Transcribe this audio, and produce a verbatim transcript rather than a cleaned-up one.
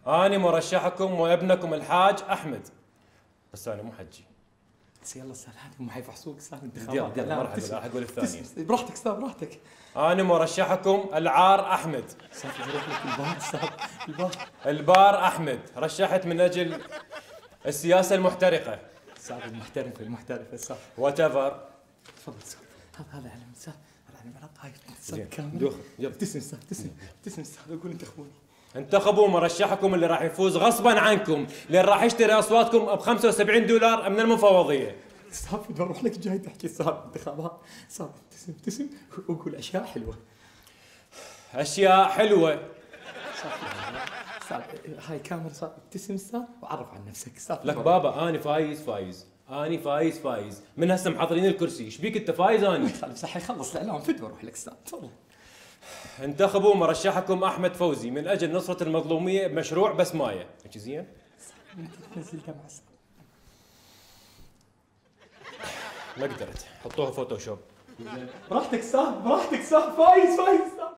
أنا مرشحكم وابنكم الحاج أحمد. بس أنا مو حجي. بس يلا استاذ هذه هم حيفحصوك استاذ انتخابات. يلا مرحبا راح أقول الثانية. براحتك استاذ براحتك. أنا مرشحكم العار أحمد. استاذ بروح لك البار استاذ البار. البار أحمد رشحت من أجل السياسة المحترقة. استاذ المحترفة المحترفة استاذ. وات ايفر. تفضل استاذ. هذا هذا علم استاذ. هذا علم على هاي استاذ كامل. دوخ يلا. ابتسم استاذ ابتسم ابتسم استاذ اقول انتخبوني. انتخبوا مرشحكم اللي راح يفوز غصبا عنكم، اللي راح يشتري اصواتكم ب خمسة وسبعين دولار من المفوضيه. استاذ بدي اروح لك جاي تحكي استاذ انتخابات، استاذ ابتسم ابتسم وقول اشياء حلوه. اشياء حلوه. استاذ هاي كاميرا استاذ ابتسم استاذ وعرف عن نفسك استاذ. لك بابا انا فايز فايز، انا فايز فايز، من هسه محضرين الكرسي، ايش بيك انت فايز اني؟ خلص حيخلص الاعلام فد واروح لك استاذ تفضل. انتخبوا مرشحكم احمد فوزي من اجل نصرة المظلومية بمشروع بسماية، هيك زين؟ نزل دمعة ما قدرت، حطوها فوتوشوب. براحتك استاذ براحتك استاذ فايز فايز.